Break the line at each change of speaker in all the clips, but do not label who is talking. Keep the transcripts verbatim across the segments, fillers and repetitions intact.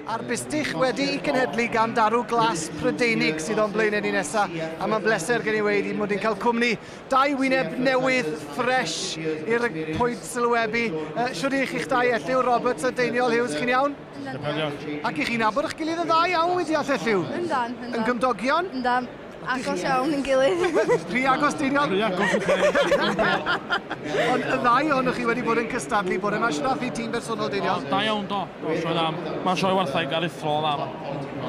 A'r bustych wedi'i cenhedlu gan darw glas Prydeinig sydd o'n blaenau ni nesaf. A mae'n bleser gen i weud i mod i'n cael cwmni dau wyneb newydd, ffres i'r pwynt sylwebu. Uh, Shwd i chi'ch dau, Elliw Roberts a Deiniol Hughes, chi'n iawn? Ac i chi'n nabod eich gilydd yn dda iawn wedi all, Elliw?
Yndan, yndan.
Yn gymdogion?
Yndan. Agos iawn yn gilydd.
Rhy agos, Deiniol?
Rhy agos.
Ond y ddau ohonoch chi wedi bod yn cystadlu bore yma. Shwd ath i tîm bersonol, Deiniol?
Da iawn, do. Do, sioe dda. Mae'n sioe wartheg aruthrol dda.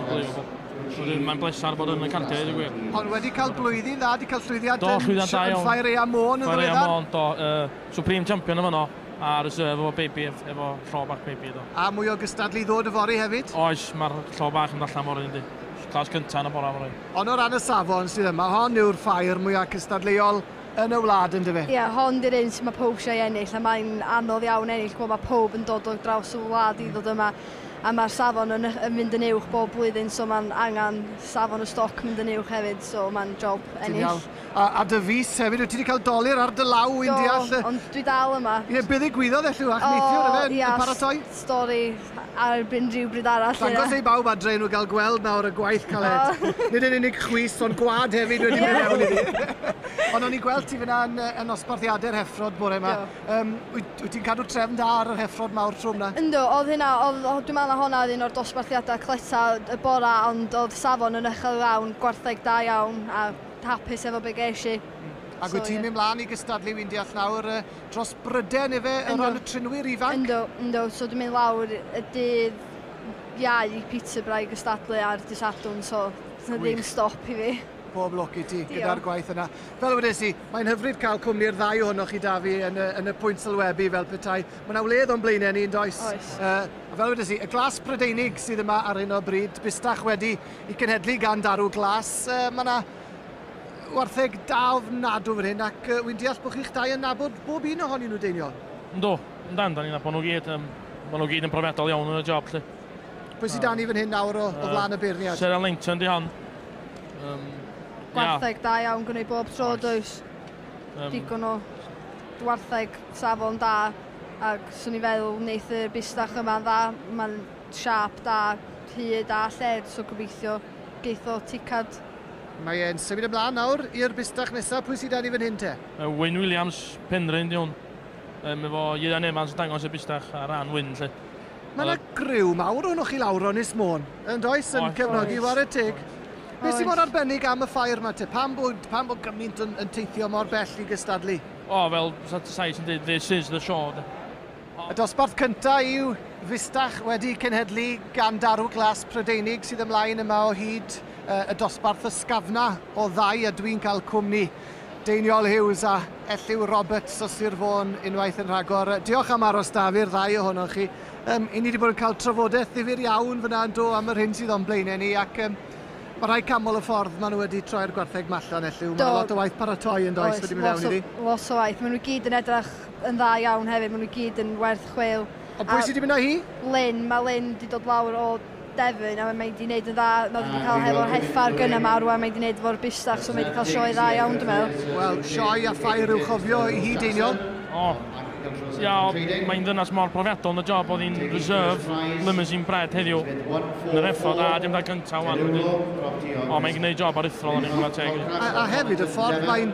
Unbelievable. Mae'n blesar bod yn y cardiau, i gwir.
Ond wedi cael blwyddyn dda, wedi cael llwyddiant
Do, llwyddiant da
yn
iawn.
Ffair Aeaf Môn yn
Ffair Aeaf
ddiweddar.
Môn, do. Uh, Supreme Champion yn fanno, a reserve efo baby, efo llo bach baby, do.
A mwy o gystadlu ddod yfory hefyd.
Oes, mae'r llo bach yn allan fory, yndi. Clas cyntaf yn y bora fory.
Ond o ran y safon sydd yma, hon yw'r ffair mwyaf cystadleuol yn y wlad, yn dyfe?
Ie, yeah, hon di'r un sydd mae pob eisiau ennill, a mae'n anodd iawn ennill, gwybod mae pob yn dod o draws y wlad i ddod yma. A mae'r safon yn, yn mynd yn uwch bob blwyddyn, so mae'n angen safon y stoc mynd yn uwch hefyd, so mae'n job
Ti'n
ennill.
iawn. A, a dy fys hefyd, wyt ti wedi cael dolur ar dy law, wy'n deall?
Do, ond dwi dal yma.
Ie, beth ddigwyddodd, Elliw, ach neithiwr, efe, yn
ia,
paratoi?
Stori ar rhyw bryd arall.
Dangos
ie.
ei bawb adre nhw gael gweld nawr y gwaith caled. Nid yn unig chwys, ond gwad hefyd wedi mynd mewn iddi. Ond o'n i'n gweld ti fyna yn, yn nosbarthiadau'r heffrod bore yma. Um, wyt, wyt ti'n cadw trefn da ar yr heffrod mawr trwm na?
Yndw, oedd hynna, oedd, oedd, dwi'n meddwl na honna oedd un o'r dosbarthiadau cleta y bora, ond oedd safon yn uchel iawn, gwartheg da iawn, a hapus efo be ges i.
Ac
So,
wyt ti'n
ie.
mynd mlaen i gystadlu, wy'n deall nawr, uh, dros Bryden efe, o
Yndw.
ran y trinwyr ifanc?
Yndw, yndw, so dwi'n mynd lawr y dydd Iau i Peterborough i gystadlu ar dydd Sadwrn, so dyna ddim stop i fi.
Pob lwc i ti
Diolch.
gyda'r gwaith yna. Fel wedes i, mae'n hyfryd cael cwmni'r ddau ohonoch chi da fi yn y, yn y pwynt sylwebu fel petai. Mae yna wledd o'n blaenau ni, yn does?
Oes.
Uh, a fel wedes i, y glas Prydeinig sydd yma ar hyn o bryd, bustach wedi i cenhedlu gan darw glas. Uh, mae yna wartheg da ofnadw fan hyn, ac uh, wy'n deall bod chi'ch dau yn nabod bob un ohonyn nhw, Deiniol.
Yndw, yndan, da ni'n nabod nhw gyd. Um, ma' nhw gyd yn profiadol iawn yn y job, lle.
Pwy sydd dan ni fan hyn nawr o, o flaen y beirniad?
Sarah Langton di hon. Um,
Gwartheg da iawn gwneud bob tro, does?
Um,
Digon o wartheg safon da, ac swn i feddwl wneith y bustach yma'n dda, mae'n siâp da, hyd a lled, so gobeithio geith o ticad.
Mae e'n symud ymlaen nawr i'r bustach nesaf. Pwy sydd dan ni fan hyn te?
Uh, Wyn Williams, Penrhyn di hwn. Um, efo Ieuan Evans yn dangos y bustach ar ran Wyn, lle.
Mae yna griw mawr ohonoch chi lawr o Ynys Môn, yn does, yn
Oes.
cefnogi
Oes.
whare teg. Beth sy'n
Oes.
mor arbennig am y ffair yma te? Pam bod, pam bod gymaint yn, yn teithio mor bell i gystadlu?
O, fel Sais yn dweud, "This is the show", de.
Y dosbarth cyntaf yw fustach wedi cenhedlu gan darw glas Prydeinig sydd ymlaen yma o hyd, uh, y dosbarth ysgafna o ddau, a dwi'n cael cwmni Deiniol Hughes a Elliw Roberts o Sir Fôn unwaith yn rhagor. Diolch am aros da fi'r ddau ohonoch chi. Um, I ni wedi bod yn cael trafodaeth ddifyr iawn fyna yn do am yr hyn sydd o'n blaenau ni, ac um, mae rhai camol y ffordd maen nhw wedi troi'r gwartheg mallan, Elliw. Mae lot o waith paratoi yn does wedi mynd
lot
mewn
o,
iddi.
lot o waith. Maen nhw gyd yn edrych yn dda iawn hefyd. Maen nhw gyd yn werth chweil.
Ond pwy
A
sydd wedi mynd â hi?
Lynn, mae Lynn wedi dod lawr o Devon a mae wedi gwneud yn dda. Mae wedi cael hefo'r heffar gynna ma rwan, mae wedi gwneud efo'r bustach, so mae wedi cael sioe dda iawn, dwi'n meddwl.
Wel, sioe a ffair i'w chofio i hi, Deiniol.
O, ia, mae'n ddynas mor profiadol yn y job, oedd hi'n reserve limousine bred heddiw yn yr effod, a dim da cyntaf wan. Wedyn. O, mae'n gwneud job aruthrol yn ei chwarae teg.
A, a hefyd, y ffordd mae'n,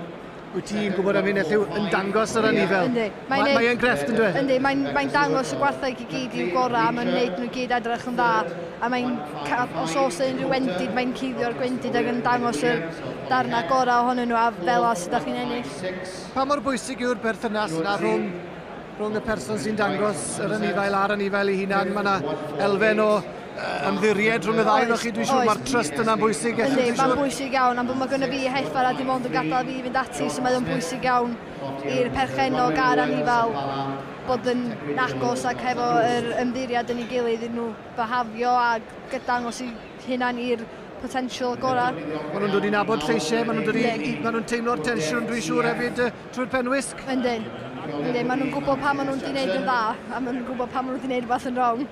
wyt ti'n gwybod am hyn, Elliw, yn dangos yr anifel.
Yndi.
Mae'n
Mae'n
mae e'n grefft, yn dweud?
Yndi, mae'n mae dangos y gwartheg i gyd i'w gorau, a mae'n gwneud nhw gyd edrych yn dda. A mae'n, ca- os oes unrhyw wendid, mae'n cuddio'r gwendid ac yn dangos yr darnau gorau ohonyn nhw a fel a sydd â chi'n ennill.
Pa mor bwysig yw'r berthynas yna rhwng, rhwng y person sy'n dangos yr anifail a'r anifail ei hunan? Mae yna elfen o yy, ymddiried rhwng y ddau ohonoch chi, dwi'n siŵr
Oes.
mae'r trust yna'n bwysig. Elliw,
Yndi,
dwi'n
mae'n
siŵr.
bwysig iawn, am bod mae gynno fi heffar a dim ond yn gadael fi fynd ati, so mae'n bwysig iawn i'r perchennog a'r anifal bod yn agos ac hefo yr ymddiriad yn ei gilydd iddyn nhw behafio a dangos eu hunan i'r potensial gorau.
Maen nhw'n dod i nabod lleisiau, maen nhw'n dod i,
Yndi.
i maen nhw'n teimlo'r tensiwn, dwi'n siŵr hefyd, yy, trwy'r penwisg.
Yndyn. Yndyn, maen nhw'n gwybod pa maen nhw'n di wneud yn dda a maen nhw'n gwybod pa maen nhw wedi wneud rhywbeth yn wrong.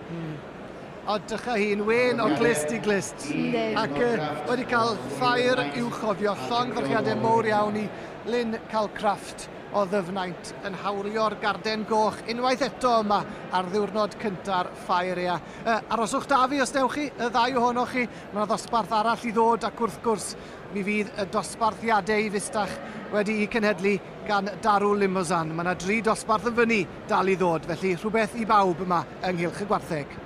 O, dycha hi'n wen o glust i glust.
Yndi.
Ac uh, wedi cael ffair i'w chofio, llongyfarchiadau mowr iawn i Lynn Calcraft o Ddyfnaint yn hawlio'r garden goch unwaith eto yma ar ddiwrnod cynta'r ffair aeaf. Uh, aroswch da fi os dewch chi, y ddau ohonoch chi, mae yna ddosbarth arall i ddod ac wrth gwrs mi fydd y dosbarthiadau i fustach wedi'u cenhedlu gan Darw Limousin. Mae yna dri dosbarth yn fyny dal i ddod, felly rhywbeth i bawb yma ynghylch y gwartheg.